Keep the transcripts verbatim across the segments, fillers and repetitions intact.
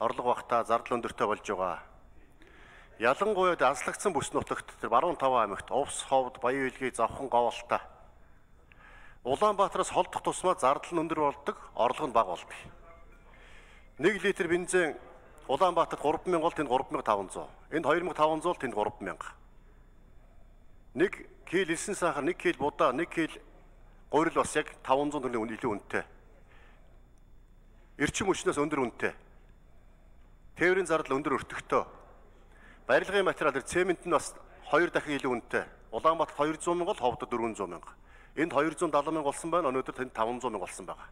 орлого багтаа зардал өндөртэй болж байгаа. Ялангуяа азлагдсан бүс нутагт тэр баруун таван аймагт Увс, Ховд, Баян Илгээ, Завхан, Говьалтай Улаанбаатараас холдох тусмаа зардал нь өндөр болдог, орлого нь бага болдог. нэг литр бензин Улаанбаатарт гурван мянга бол тэнд гурван мянга таван зуун. Энд хоёр мянга таван зуун тэнд гурван мянга. нэг кил элсэн сахар, нэг кил будаа, нэг кил гурил бас яг таван зуун төгрөгийн илүү үнэтэй. Эрчим хүчнээс өндөр үнэтэй. Тээврийн зардал өндөр өртөгтэй. Барилгын материал цемент нь бас хоёр дахин илүү үнэтэй. Улаанбаатарт хоёр зуун мянга, Ховдод дөрвөн зуун мянга. Энд хоёр зуун далайн мянга болсон байна. Өнөөдөр тэнд таван зуун мянга болсон байгаа.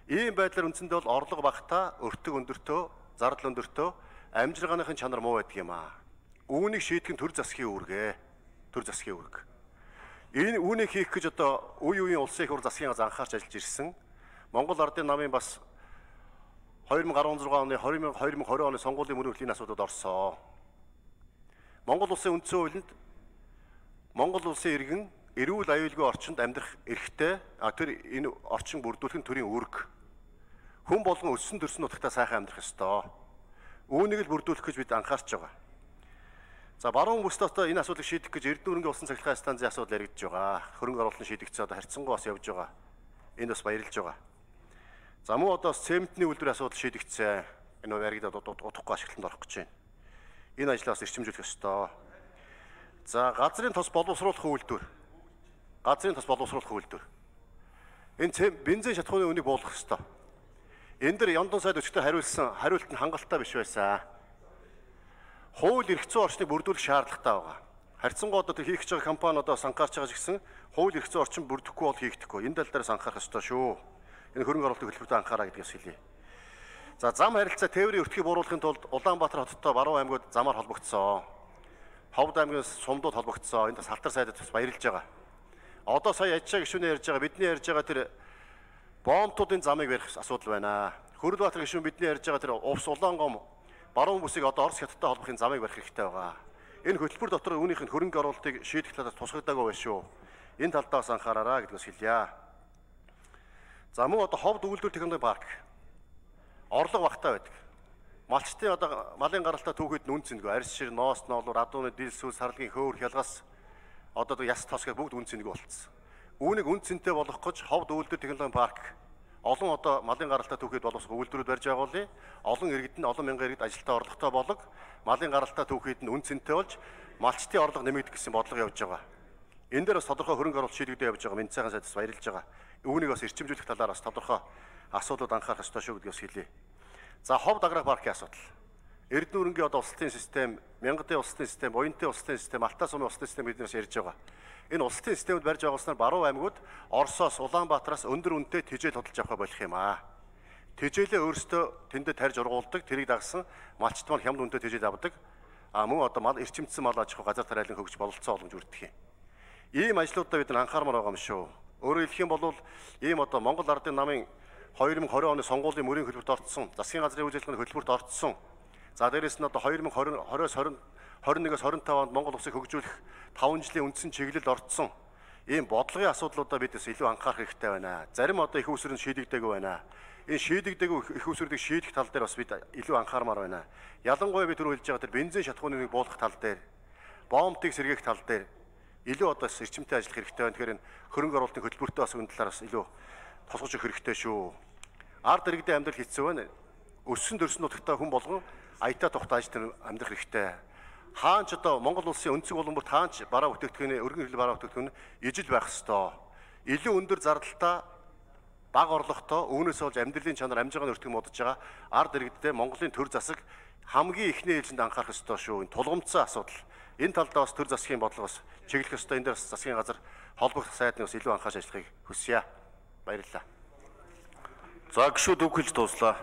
Ийм байдлаар үндсэндээ бол орлого багтаа, өртөг өндөртөө, зардал өндөртөө, амжиргааныхын чанар муу байдаг юм аа. Үүнийг шийдэх нь төр засгийн үүргээ. Төр засгийн үүрэг. Энэ үүнийг хийх гэж одоо үе үеийн улсын их хур засгийн газ анхаарч ажиллаж ирсэн. Монгол Ардын намын бас хоёр мянга арван зургаан оны хоёр мянга двадцать оны сонгуулийн мөрөнд энэ асуудалд орсон. Монгол улсын үндсэн хуулинд Монгол улсын иргэн эрүүл аюулгүй орчинд амьдрах эрхтэй, а тэр энэ орчин бүрдүүлэх нь төрийн үүрэг. Хүн болгон өссөн төрсөн нутагтаа сайхан амьдрах ёстой. Үүнийг л бүрдүүлэх гэж бид анхаарч байгаа. За баруун бүсд одоо энэ асуудлыг шийдэх гэж Эрдэнэ өргөн улсын цахилгаан станцын асуудал яригдж байгаа. Хөрөнгө оруулалтын шийдэгдсэн одоо харьцангуй бас явж байгаа. Энд бас баярлж байгаа. За мөн одоо цементний үйлдвэрийн асуудал шийдэгдсэн. Энэ яригдаад удахгүй ашиглалтанд орох гэж байна. Энэ ажлаас эрчимжүүлэх ёстой. За газрын тос боловсруулах үйлдвэр. Газрын тос боловсруулах үйлдвэр. Энэ бензин шатхууны үнийг буулгах ёстой. Энэ дэр Яндон сайд өчигдөр хариулсан хариулт нь хангалттай биш байсан. Хууль эрх зүйн орчныг бүрдүүлэх шаардлагатай байгаа. Харьцангуй одоо хийх гэж байгаа компаниудаас анхаарч байгаа гэсэн хууль эрх зүйн орчин бүрдэхгүй бол хийгдэхгүй. Энэ тал дээрээс анхаарах ёстой шүү. Энэ хөрөнгө оруулалтын хөтөлбөртөө анхаараа гэдгээс хэлье. За зам харилцаа тээврийн өртгийг бууруулахын тулд Улаанбаатар хоттой баруун аймагуд замаар холбогдсон. Ховд аймгийн сумдууд холбогдсон. Энд салтар сайдад бас баярлж байгаа. Одоо сая ячаа гишүүнээ ярьж байгаа, бидний ярьж байгаа тэр боомтуудын замыг барих асуудал байна. Хөрөлбаатар гишүүн бидний ярьж байгаа тэр Увс, Улаангом баруун бүсийг одоо Орос хятадтай холбохын замыг барих хэрэгтэй байгаа. Энэ хөтөлбөр дотор үүнийх нь хөрөнгө оруулалтыг шийдэх талаас тусгагдаагүй байна шүү. Энэ талдаа бас анхаараарай гэдгээс хэлье. За мөн одоо Ховд үйлдвэр технологийн парк орлого багтаа байдаг. Малчтын одоо малын гаралтай түүхэд нь үн цэнэгүй. Арьс шир, ноос, ноолуур, адууны дил сүс, сарлагын хөөр, хялгас одоо яс тос гэх бүгд үн цэнэгүй болцсон. Үүнийг үн цэнтэй болгох гэж Ховд үйлдвэр технологийн парк олон одоо малын гаралтай түүхэд боловсрох үйлдвэрүүд барьж байгуулъя. Олон иргэд нь олон мянган иргэд ажилтаа орлоготой болог малын гаралтай түүхэд нь үн цэнтэй болж малчтын орлого нэмэгдэх гэсэн бодлого явж байгаа. Энэ дээр бас тодорхой хөрөнгө оруулалт шийдэгдэж явж байгаа. Мэд сайхан сайдас баярлж байгаа. Үүнийг бас эрчимжүүлэх талаар бас тодорхой асуудлууд анхаарах ёстой шүү гэдгээс хэлье. За Ховд аграр паркийн асуудал. Эрдэнэ өрөнгийн одоо улсалтын систем, Мянгатын улсалтын систем, Буянтын улсалтын систем, Алтай сумын улсалтын систем биднээс ярьж байгаа. Энэ улсалтын системд барьж байгуулснаар баруун аймагуд Оросоос, Улаанбаатараас өндөр үнэтэй тэжээл хөдөлж авах болох юм аа. Тэжээлээ өөрсдөө тэндээ тарьж ургуулдаг, тэрийг дагсан малчт маань хямд үнэтэй тэжээл авдаг. А мөн одоо мал эрчимдсэн мал аж ахуй газар тариалан хөгж бололцоо боломж өрдөх юм. Ийм ажлуудаа бид анхаармаар байгаа юм шүү. Өөрөөр хэлэх юм бол ийм одоо Монгол Ардын намын хоёр мянга двадцать оны сонгуулийн мөрийн хөтөлбөрт орцсон, засгийн газрын үйл ажиллагааны хөтөлбөрт орцсон. За дээрэс нь одоо хоёр мянга двадцать-аас двадцать нэгээс двадцать пять онд Монгол улсыг хөгжүүлэх таван жилийн үндсэн чиглэлд орцсон. Ийм бодлогын асуудлуудаа бидээс илүү анхаарах хэрэгтэй байна. Зарим одоо их усрын шийдэгдээгүй байна. Энэ шийдэгдээгүй их усрыг шийдэх тал дээр бас бид илүү анхаармаар байна. Ялангуяа бид түр хэлж байгаа тэр бензин шатхууныг буулгах тал дээр, боомтыг сэргээх тал дээр илүү одоо эрчимтэй ажиллах хэрэгтэй байна. Тэгэхээр энэ хөрөнгө оруулалтын хөтөлбөртөө бас энэ талаар бас илүү тусгаж өгөх хэрэгтэй шүү. Ард иргэдийн амьдрал хэцүү байна. Өссөн төрсөн нутагтаа хүн болгон аятаа тухтааж тэр амьдрах хэрэгтэй. Хаанч одоо Монгол улсын өнцөг улам бүр таанч бараа бүтээгдэхүүний өргөн хил бараа бүтээгдэхүүн ижил байх ёстой. Илүү өндөр зардалтай, бага орлоготой, үүнээс болж амьдралын чанар амжиргааны өртөг модож байгаа ард иргэдтэй Монголын төр засаг хамгийн ихний ээлжинд анхаарах ёстой шүү. Энэ тулгымцсан асуудал. Энэ талдаа бас төр засгийн бодлогоос чиглэх ёстой. Энэ дээр бас засгийн газар холбогдох сайдны бас илүү анхаарч ажиллахыг хүсье. Баярлалаа. За гишүүд үг хэлж дууслаа.